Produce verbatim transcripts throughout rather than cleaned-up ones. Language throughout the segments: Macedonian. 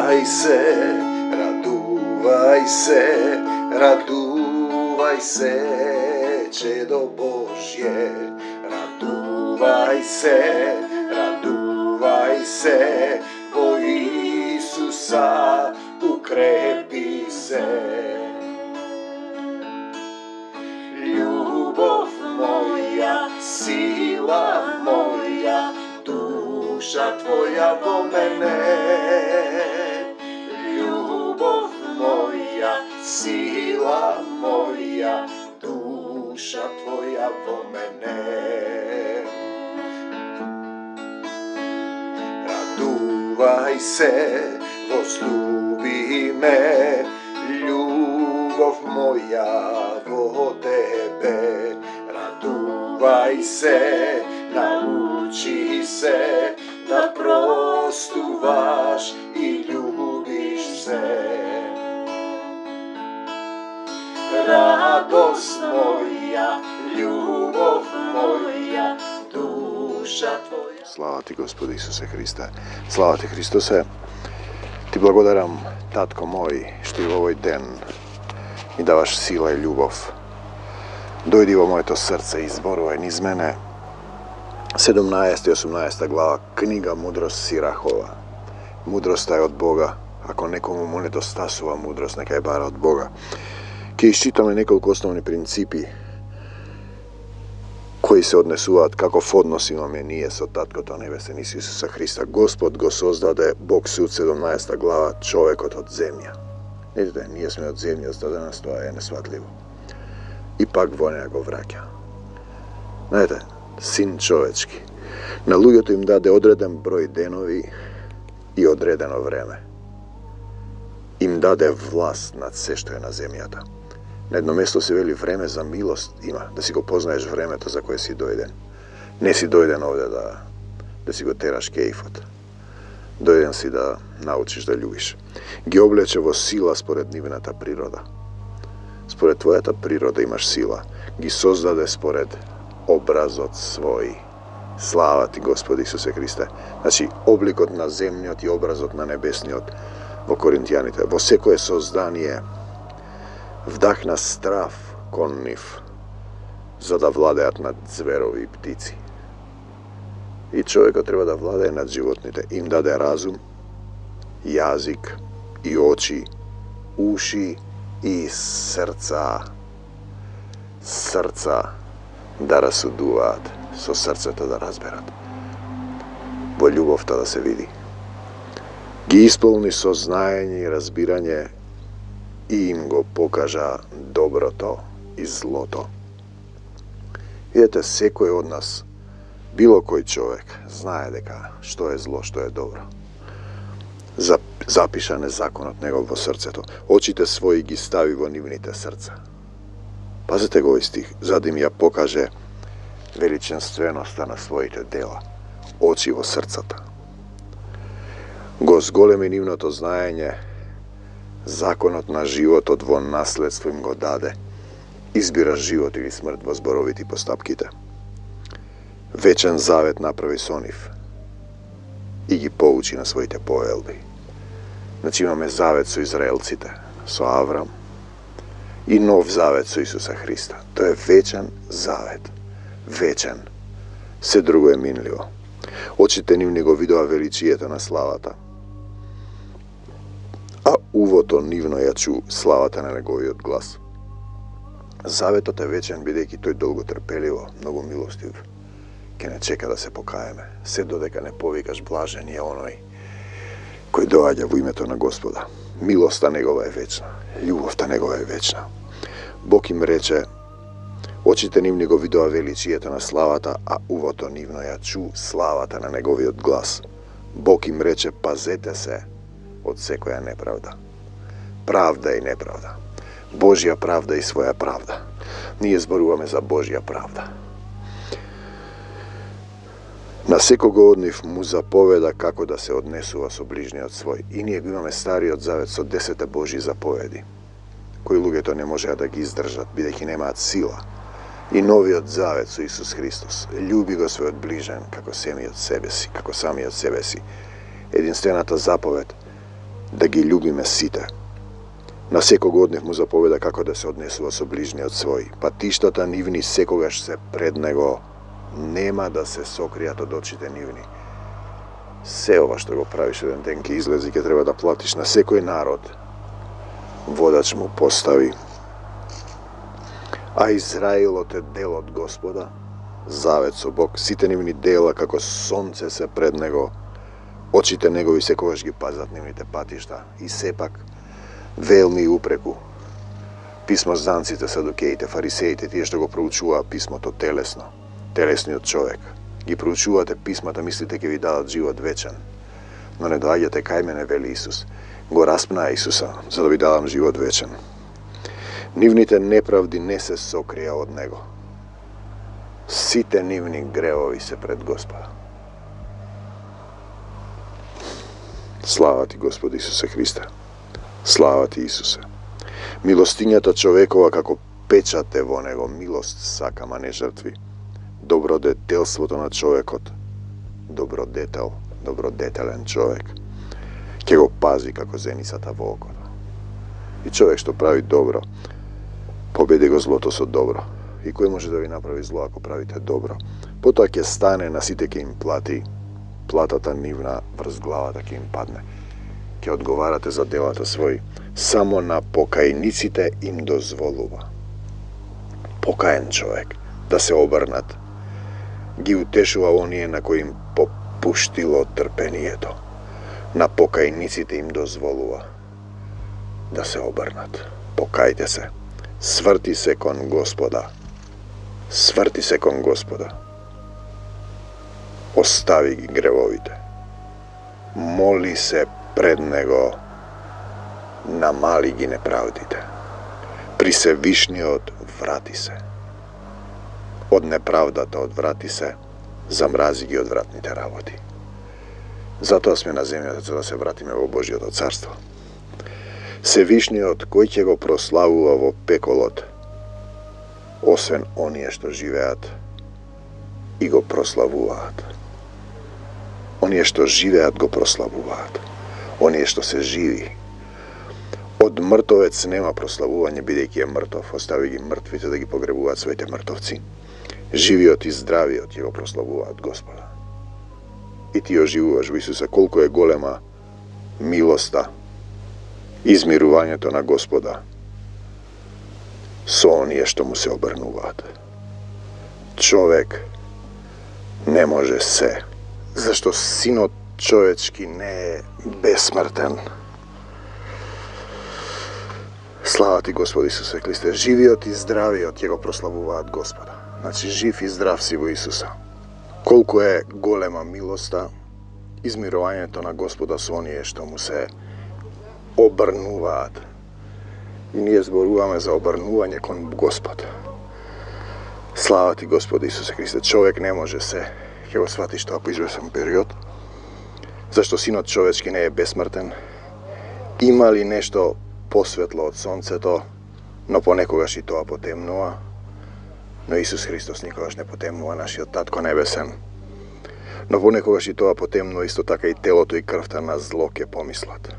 Радувај се, радувај се, радувај се, чедо Божје. Радувај се, радувај се, во Исуса укрепи се. Љубов моја, сила моја, душа твоја во мене. Љубов моја, сила моја, душа твоја во мене. Радувај се, возлюби ме, љубов моја во тебе. Радувај се, научи се да простуваш и љубиш се. Радост моја, љубов моја, душа твоја. Слава ти, Господи Исусе Христе. Слава ти, Христосе. Ти благодарам, татко мој, што и во овој ден ми даваш сила и љубов. Дојди во моето срце и зборувај низ мене. седумнаесета и осумнаесета глава, книга Мудрост Сирахова. Мудроста е од Бога. Ако некому му недостасува мудрост, нека ја бара од Бога. Ке исчитаме неколку основни принципи кои се однесуваат каков однос имаме ние со Таткото Небесен Исуса Христа. Господ го создаде, Бог Суд, седумнаесета глава, човекот од земја. Видите, ние сме од земја, за да нас тоа е несватливо. И пак во неја го враќа. Знаете, син човечки. На луѓето им даде одреден број денови и одредено време. Им даде власт над се што е на земјата. На едно место се вели време за милост има, да си го познаеш времето за кое си дојден. Не си дојден овде да, да си го тераш кејфот. Дојден си да научиш да љубиш. Ги облече во сила според нивната природа. Според твојата природа имаш сила. Ги создаде според образот свој. Слава ти, Господи Исусе Христе. Значи, обликот на земниот и образот на небесниот во Коринтијаните. Во секое создание вдахна страв кон нив, за да владеат над зверови и птици. И човекот треба да владее над животните. Им даде разум, јазик и очи, уши и срца. Срца да расудуваат, со срцето да разберат. Во љубовта да се види. Ги исполни со знаење и разбирање и им го покажа доброто и злото. Видете, секој од нас, било кој човек, знае дека што е зло, што е добро. Запишан е законот негов во срцето. Очите своји ги стави во нивните срца. Пазете го овој стих, за да им ја покаже величенственоста на своите дела. Очи во срцата. Го зголеми нивното знаење, законот на животот во наследство им го даде. Избира живот или смрт во зборовите и постапките. Вечен завет направи со нив и ги поучи на своите повелби. Значи имаме завет со израелците, со Аврам, и нов завет со Исуса Христа. Тој е вечен завет. Вечен. Се друго е минливо. Очите нивни го видува величието на славата, а увото нивно ја чу славата на неговиот глас. Заветот е вечен, бидејќи тој долго трпеливо, многу милостив, ке не чека да се покаеме, се додека не повикаш блажен е оној кој доаѓа во името на Господа. Милоста негова е вечна, љубовта негова е вечна. Бог им рече, очите нивни го видува величието на славата, а увото нивно ја чу славата на неговиот глас. Бог им рече, пазете се од секоја неправда. Правда и неправда. Божја правда и своја правда. Ние зборуваме за Божја правда. На секого од нив му заповеда како да се однесува со ближниот свој. И ние го имаме Стариот завет со десете Божји заповеди, кои луѓето не можеа да ги издржат, бидејќи немаат сила. И новиот завет со Исус Христос. Љуби го својот ближен како семиот себе си, како самиот себе си. Единствената заповед да ги љубиме сите. На секог од нив му заповеда како да се однесува со ближниот свој. Патиштата нивни секогаш се пред него, нема да се сокријат од очите нивни. Се ова што го правиш еден ден ќе излези, ќе треба да платиш на секој народ. Водач му постави. А Израилот е дел од Господа, завет со Бог, сите нивни дела како сонце се пред него, очите негови секогаш ги пазат нивните патишта. И сепак, велми упреку, писмозданците, садукеите, фарисеите, тие што го проучуваа писмото телесно, телесниот човек, ги проучувате писмата, мислите ќе ви дадат живот вечен, но не доаѓате кај мене, вели Исус. Го распнаа Исуса, за да ви дадам живот вечен. Нивните неправди не се сокрија од него. Сите нивни гревови се пред Господа. Слава ти, Господи Исусе Христе. Слава ти, Исусе. Милостињата човекова како печат е во него, милост сакам, а не жртви. Добродетелството на човекот, добродетел, добродетелен човек, ќе го пази како зеницата во окото. И човек што прави добро, победи го злото со добро. И кој може да ви направи зло ако правите добро? Потоа ќе стане, на сите ќе им плати, платата нивна врз главата ќе им падне. Ќе одговарате за делата своји. Само на покајниците им дозволува. Покаен човек да се обрнат. Ги утешува оние на кои им попуштило трпението. На покајниците им дозволува да се обрнат. Покајте се. Сврти се кон Господа. Сврти се кон Господа. Остави ги гревовите. Моли се пред Него. Намали ги неправдите. При Севишниот врати се. Од неправдата одврати се, замрази ги одвратните работи. Затоа сме на земјата, за да се вратиме во Божјото царство. Севишниот кој ќе го прославува во пеколот, освен оние што живеат и го прославуваат. Оние што живеат го прославуваат. Оние што се живи. Од мртовец нема прославување, бидејќи е мртов, остави ги мртвите да ги погребуваат своите мртовци. Живиот и здравиот ќе го прославуваат Господа. И ти оживуваш во Исуса, колку е голема милоста, измирувањето на Господа со оние што му се обрнуваат. Човек не може се, зашто Синот човечки не е бесмртен. Слава ти, Господи Исусе Христе. Живиот и здравиот ќе го прославуваат Господа. Значи, жив и здрав си во Исуса. Колку е голема милоста, измирувањето на Господа со оние што му се обрнуваат. И ние зборуваме за обрнување кон Господ. Слава ти, Господи Исусе Христе. Човек не може се, ќе го сватиш тоа по извесен период, зашто Синот човечки не е бесмртен. Има ли нешто посветло од сонцето, но понекогаш и тоа потемнува? Но Исус Христос никогаш не потемнува, нашиот Татко Небесен. Но понекогаш и тоа потемнува, исто така и телото и крвта на зло ќе помислат.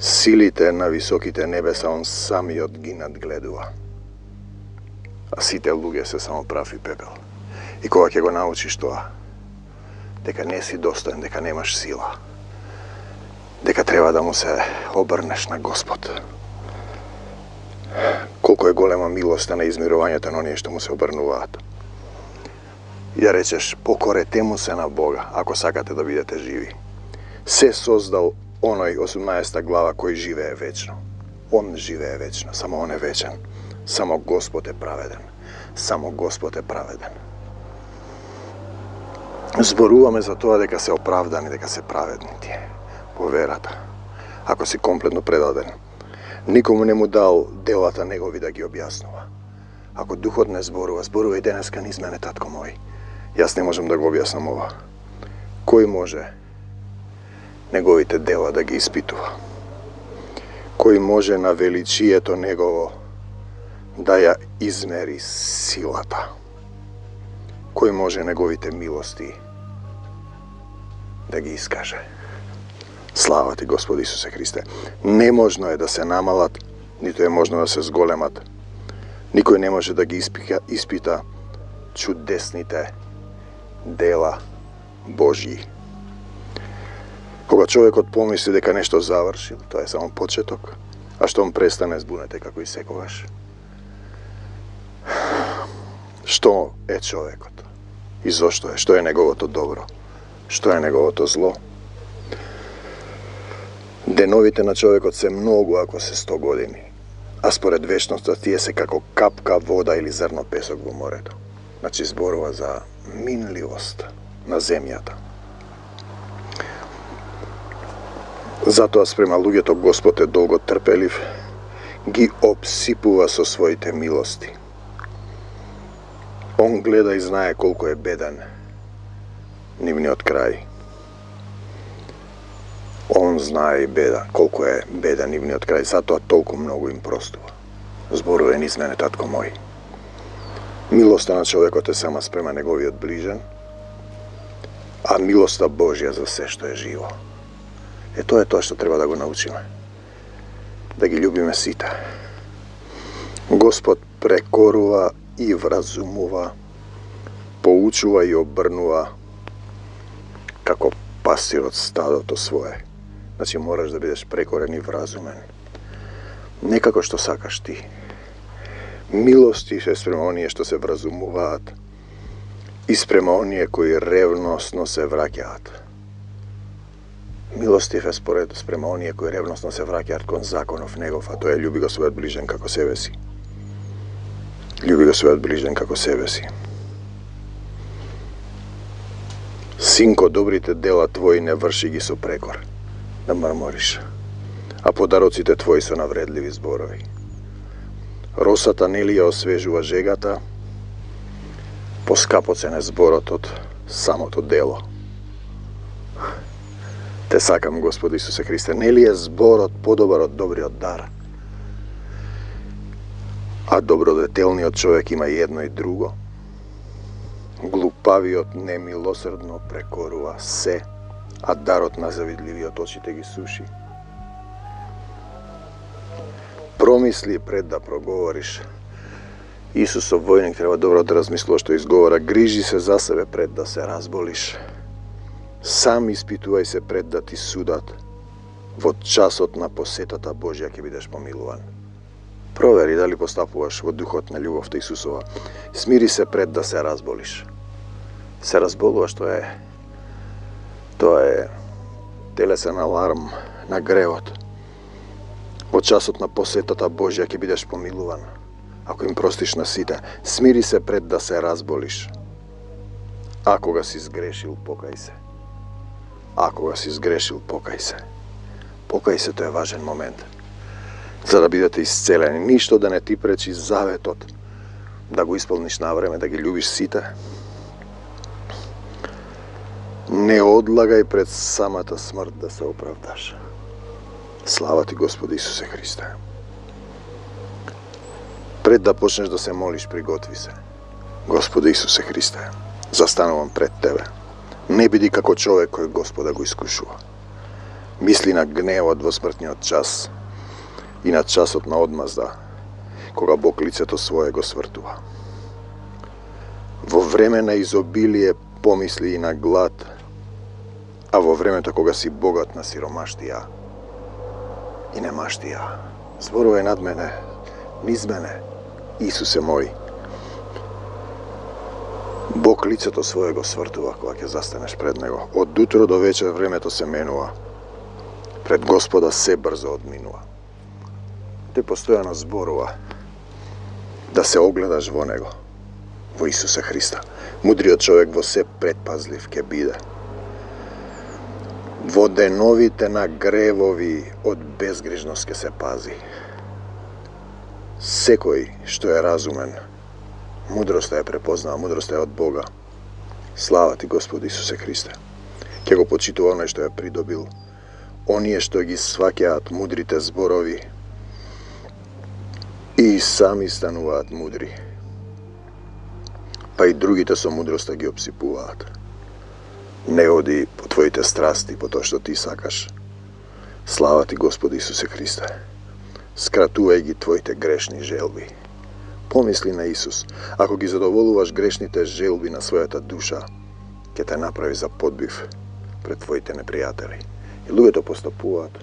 Силите на високите небеса он самиот ги надгледува. А сите луѓе се само прав и пепел. И кога ќе го научиш тоа, дека не си достоен, дека немаш сила, дека треба да му се обрнеш на Господ. Колко е голема милоста на измирувањето на оние што му се обрнуваат. И да речеш, покорете му се на Бога, ако сакате да бидете живи. Се создал оној осумнаесета глава кој живее вечно. Он живее вечно, само он е вечен. Само Господ е праведен. Само Господ е праведен. Зборуваме за тоа дека се оправдани, дека се праведни тие по верата. Ако си комплетно предаден, никому не му дал делата негови да ги објаснува. Ако Духот не зборува, зборува и денеска низ мене, татко мој. Јас не можам да го објаснам ова. Кој може неговите дела да ги испитува? Кој може на величието негово да ја измери силата? Кој може неговите милости да ги искаже? Слава ти, Господи Исусе Христе. Неможно е да се намалат, нито е можно да се зголемат. Никој не може да ги испита, испита чудесните дела Божји. Кога човекот помисли дека нешто завршил, тоа е само почеток, а штом престане, збунете како и секогаш. Што е човекот? И зошто е? Што е неговото добро? Што е неговото зло? Деновите на човекот се многу ако се сто години, а според вечноста тие се како капка вода или зрно песок во морето. Значи зборува за минливост на земјата. Затоа спрема луѓето Господ е долго трпелив, ги обсипува со своите милости. Он гледа и знае колку е беден нивниот крај. Он знае и беда, колку е беден нивниот крај, затоа толку многу им простува. Зборува низ мене, татко мој. Милоста на човекот е сама спрема неговиот ближен, а милоста Божја за се што е живо. Е, тоа е тоа што треба да го научиме. Да ги љубиме сите. Господ прекорува и вразумува, поучува и обрнува како пастирот стадото свое. Значи мораш да бидеш прекорен и вразумен. Не како што сакаш ти. Милости се спрема оние што се вразумуваат и спрема оние кои ревносно се враќаат. Милостив е според спрема оние кои ревносно се враќаат кон законов негов, а тоа е љуби го својот ближен како себе си. Љуби го својот ближен како себе си. Синко, добрите дела твои не врши ги со прекор, да мрмориш, а подароците твои со навредливи зборови. Росата нели ја освежува жегата, поскапоцен е зборот од самото дело. Те сакам, Господи Исусе Христе, нели е зборот подобар од добриот дар? А добродетелниот човек има и едно и друго. Глупавиот немилосрдно прекорува се, а дарот на завидливиот очите ги суши. Промисли пред да проговориш. Исусов војник треба добро да размислува што изговора. Грижи се за себе пред да се разболиш. Сам испитувај се пред да ти судат. Во часот на посетата Божја ќе бидеш помилуван. Провери дали постапуваш во духот на љубовта Исусова. Смири се пред да се разболиш. Се разболуваш, тоа е тоа е телесен аларм на гревот. Во часот на посетата Божја ќе бидеш помилуван. Ако им простиш на сите, смири се пред да се разболиш. А кога си сгрешил, покај се. А кога си сгрешил, покај се. Покај се, тоа е важен момент. За да бидете исцелени, ништо да не ти пречи заветот да го исполниш на време, да ги љубиш сите. Не одлагај пред самата смрт да се оправдаш. Слава ти, Господи Исусе Христе. Пред да почнеш да се молиш, приготви се. Господи Исусе Христе, застанувам пред Тебе. Не биди како човек кој Господа го искушува. Мисли на гневот во смртниот час и на часот на одмазда, кога Бог лицето свое го свртува. Во време на изобилие помисли и на глад, а во времето кога си богат на сиромаштија и немаштија. Зборувај над мене, низ мене, Исусе мој. Бог лицето свое го свртува кога ќе застанеш пред Него. Од утро до вечер времето се менува. Пред Господа се брзо одминува. Тој постојано зборува да се огледаш во Него, во Исуса Христа. Мудриот човек во се предпазлив ќе биде. Во деновите на гревови од безгрижност ќе се пази. Секој што е разумен, мудроста е препознава, мудроста е од Бога. Слава ти, Господи Исусе Христе. Ќе го почитува оној што ја придобил. Оние што ги сваќаат мудрите зборови и сами стануваат мудри. Па и другите со мудроста ги обсипуваат. Не оди по твоите страсти, по тоа што ти сакаш, Слава ти, Господи Исусе Христе. Скратувај ги твоите грешни желби. Помисли на Исус. Ако ги задоволуваш грешните желби на својата душа, ќе те направи за подбив пред твоите непријатели. И луѓето постапуваат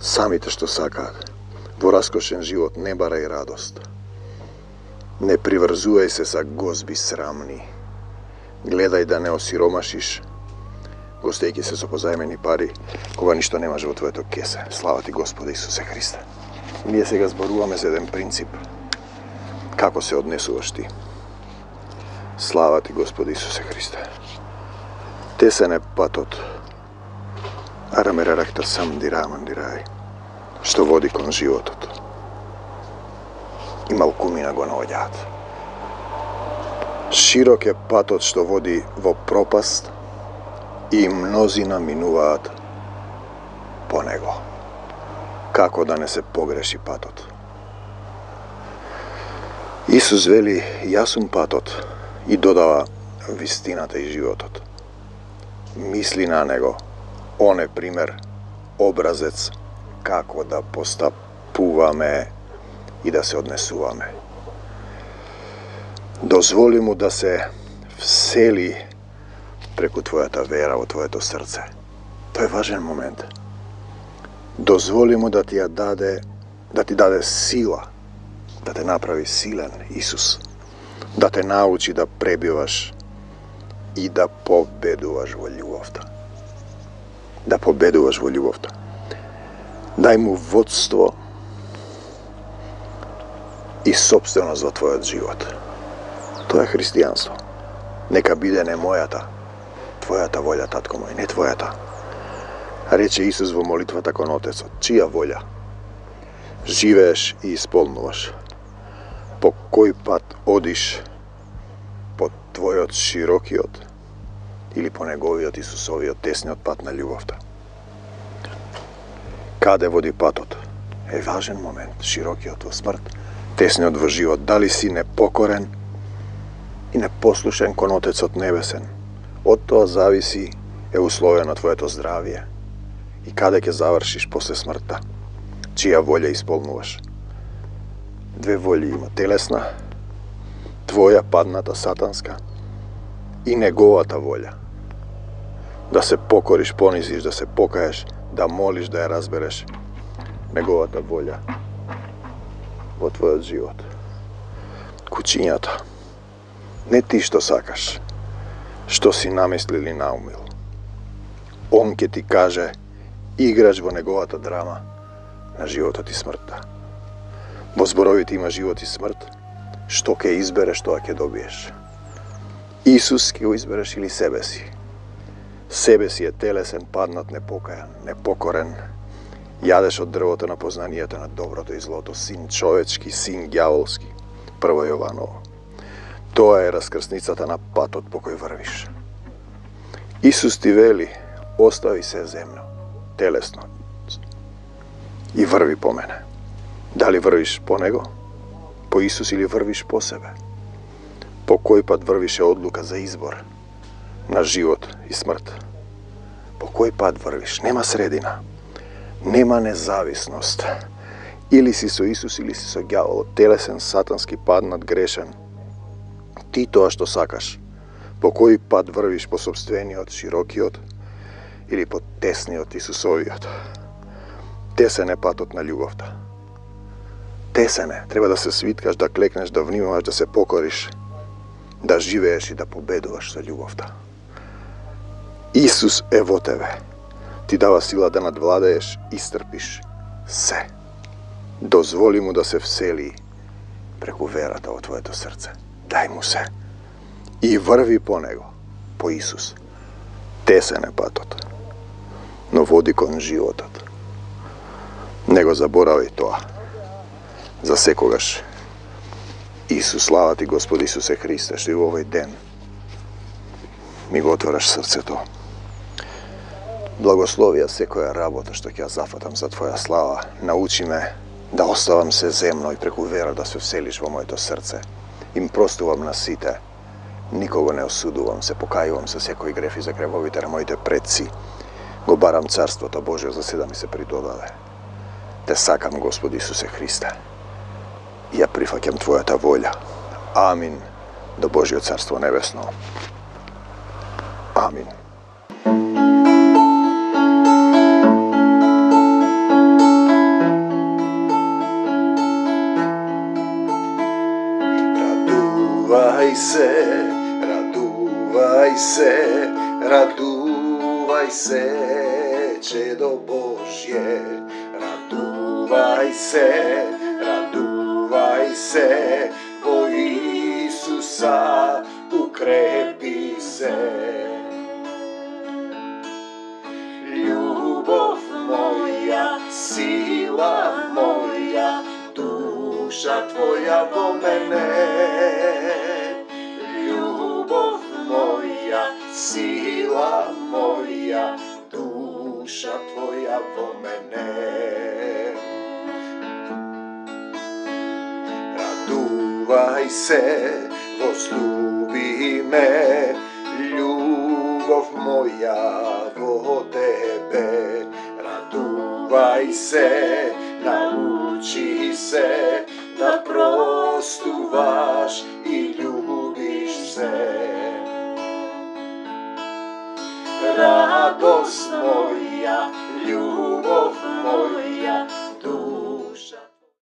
самите што сакаат. Во раскошен живот не барај радост. Не приврзувај се са гозби срамни. Гледај да не осиромашиш, гостејќи се со позајмени пари, кога ништо немаш во твоето кесе. Слава ти, Господи Исусе Христе. Ние сега зборуваме за еден принцип. Како се однесуваш ти? Слава ти, Господи Исусе Христе. Тесен е патот. Арамерарахта сам дираман дирај, што води кон животот. И малкумина го наоѓаат. Широк е патот што води во пропаст и мнозина минуваат по него. Како да не се погреши патот? Исус вели, јас сум патот, и додава вистината и животот. Мисли на него, он е пример, образец како да постапуваме и да се однесуваме. Дозволи му да се всели преку твојата вера во твоето срце. Тоа е важен момент. Дозволи му да ти ја даде, да ти даде сила, да те направи силен, Исус, да те научи да пребиваш и да победуваш во љубовта. Да победуваш во љубовта. Дај му водство и собственост во твојот живот. Тоа е христијанство. Нека биде не мојата, твојата волја, татко мој, не твојата. Рече Исус во молитвата кон Отецот, чија волја живееш и исполнуваш? По кој пат одиш? По твојот широкиот или по неговиот Исусовиот тесниот пат на љубовта? Каде води патот? Е важен момент. Широкиот во смрт, тесниот во живот. Дали си непокорен и непослушен кон Отецот Небесен? Од тоа зависи е условено твоето здравје и каде ќе завршиш после смртта. Чија волја исполнуваш? Две волји има. Телесна, твоја падната сатанска и неговата волја. Да се покориш, понизиш, да се покаеш, да молиш, да ја разбереш неговата волја во твојот живот. Кучињата. Не ти што сакаш, што си намислил или наумил. Он ќе ти каже, играш во неговата драма на животот и смртта. Во зборовите има живот и смрт, што ќе избереш, тоа ќе добиеш. Исус ќе го избереш или себе си. Себе си е телесен, паднат, непокајан, непокорен. Јадеш од дрвото на познанието на доброто и злото, син човечки, син ѓаволски. Прво Јованово. Тоа е раскрсницата на патот по кој врвиш. Исус ти вели, остави се земно, телесно, и врви по мене. Дали врвиш по него, по Исус, или врвиш по себе? По кој пат врвиш е одлука за избор на живот и смрт? По кој пат врвиш? Нема средина. Нема независност. Или си со Исус, или си со ѓаволот, телесен, сатански, паднат, грешен. Ти тоа што сакаш. По кој пат врвиш? По собствениот, широкиот, или по тесниот, Исусовиот? Тесен е патот на љубовта. Тесен е. Треба да се свиткаш, да клекнеш, да внимаваш, да се покориш, да живееш и да победуваш со љубовта. Исус е во тебе. Ти дава сила да надвладееш и стрпиш се. Дозволи му да се всели преку верата во твоето срце. Дај му се. И врви по него, по Исус. Тесен е патот, но води кон животот. Не го заборавај тоа. За секогаш. Исус, слава ти, Господи Исусе Христе, што и во овој ден ми го отвораш срцето. Благословија секоја работа што ќе ја зафатам за Твоја слава. Научи ме да оставам се земно и преку вера да се вселиш во моето срце. Им простувам на сите. Никого не осудувам, се покајувам за секој греф и за гревовите на моите предци. Го барам Царството Божие за седа ми се придодаде. Те сакам, Господи Исусе Христе. И ја прифаќам Твојата волја. Амин. До Божиот Царство Небесно. Амин. Радувај се, радувај се, радувај се, чедо Божје. Радувај се, радувај се, во Исуса укрепи се. Љубов моја, сила моја, душа Твоја во мене. Љубов моја, сила моја, душа Твоја во мене. Радувај се, возлюби ме, љубов моја во Тебе. Радувај се, научи се, да простуваш и љубиш се. Радост